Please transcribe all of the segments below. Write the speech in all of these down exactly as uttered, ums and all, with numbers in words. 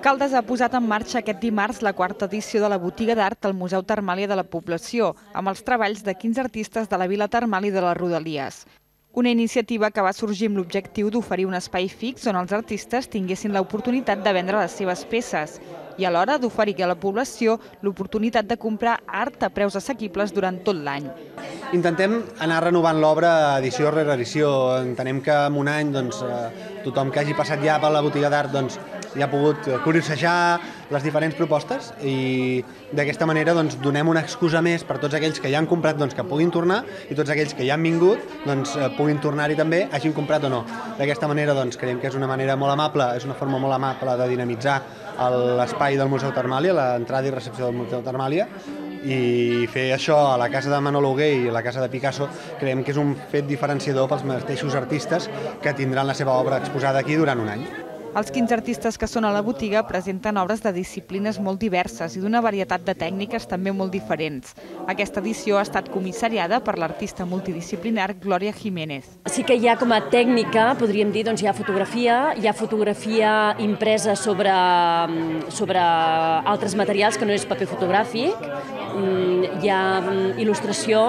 Caldes ha posat en marxa aquest dimarts la quarta edició de la botiga d'art al Museu Termàlia de la Població, amb els treballs de quinze artistes de la Vila Termal i de les Rodalies. Una iniciativa que va sorgir amb l'objectiu d'oferir un espai fix on els artistes tinguessin l'oportunitat de vendre les seves peces i alhora d'oferir a la població l'oportunitat de comprar art a preus assequibles durant tot l'any. Intentem anar renovant l'obra edició rere edició. Entenem que en un any doncs, tothom que hagi passat ja per la botiga d'art doncs, ja ha pogut curiosejar les diferents propostes i d'aquesta manera doncs, donem una excusa més per tots aquells que ja han comprat doncs, que puguin tornar i tots aquells que ja han vingut doncs, puguin tornar-hi també, hagin comprat o no. D'aquesta manera doncs, creiem que és una manera molt amable, és una forma molt amable de dinamitzar l'espai del Museu Termàlia, l'entrada i recepció del Museu Termàlia, i fer això a la casa de Manolo Hugué i a la casa de Picasso creiem que és un fet diferenciador pels mateixos artistes que tindran la seva obra exposada aquí durant un any. Els quinze artistes que són a la botiga presenten obres de disciplines molt diverses i d'una varietat de tècniques també molt diferents. Aquesta edició ha estat comissariada per l'artista multidisciplinar Glòria Jiménez. Sí que hi ha com a tècnica, podríem dir, doncs hi ha fotografia, hi ha fotografia impresa sobre, sobre altres materials que no és paper fotogràfic, hi ha il·lustració,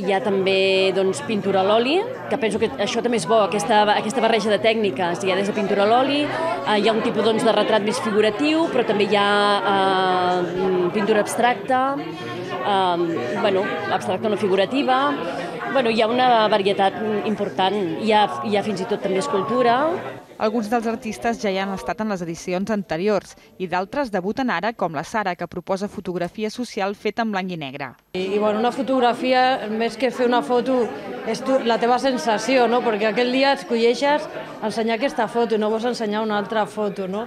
hi ha també doncs, pintura a l'oli, que penso que això també és bo, aquesta, aquesta barreja de tècniques. Hi ha des de pintura a l'oli, eh, hi ha un tipus doncs, de retrat més figuratiu, però també hi ha eh, pintura abstracta, eh, bueno, abstracta no figurativa. Bueno, hi ha una varietat important, hi ha, hi ha fins i tot també escultura. Alguns dels artistes ja hi han estat en les edicions anteriors i d'altres debuten ara, com la Sara, que proposa fotografia social feta en blanc i negre. I, i bueno, una fotografia, més que fer una foto, és tu, la teva sensació, no? Perquè aquell dia escolleixes ensenyar aquesta foto i no vols ensenyar una altra foto, no?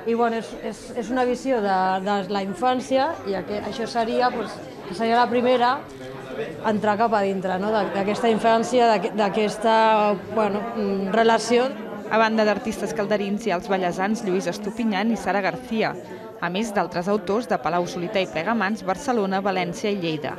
I bueno, és, és, és una visió de, de la infància i aquest, això seria, doncs, seria la primera entrar cap a dintre, no? D'aquesta infància, d'aquesta bueno, relació. A banda d'artistes calderins hi ha els ballesans Lluís Estupinyan i Sara García, a més d'altres autors de Palau-solità i Plegamans, Barcelona, València i Lleida.